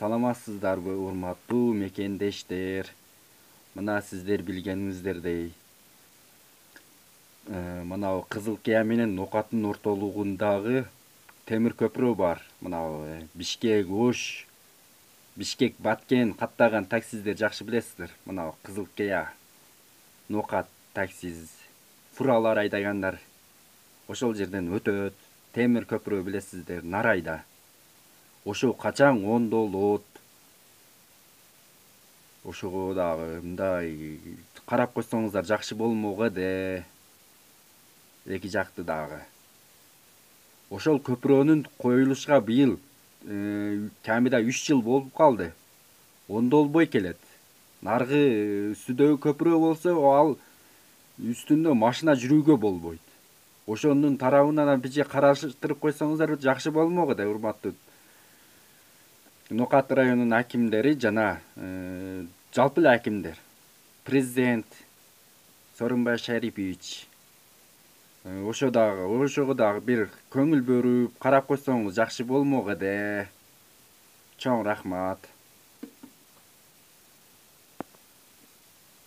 Саламатсыздарбы, урматтуу мекендештер? Мына сиздер билгениңиздердей, мына Кызыл Кыя менен Нокаттын ортолугундагы темир көпүрө бар. Мына Бишкек Ош, Бишкек Баткен каттаган таксиздер жакшы билесиздер. Мына Кызыл Кыя, Нокат таксиз, фуралар айдагандар ошол жерден өтөт. Темир көпүрө билесиздер, Нарайда. Ошо качаң ондолот. Ошого дагы мындай карап койсоңуздар жакшы болмок эде. Эки жакты дагы. Ошол көпүрөнүн коюлушка быйыл камида 3 жыл болуп калды. Ондолбой келет. Наргы үстүдөгү көпүрө болсо, ал үстүндө машина жүрүүгө болбойт. Ошонун тарабынан бije караштырып койсоңуздар жакшы болмок эде, урматтуу Нокат районунун акимдери жана жалпы эле акимдер. Президент Сооронбай Шарипович ошого дагы бир көңүл бөлүп карап койсоңуз жакшы болмок эде. Чоң рахмат.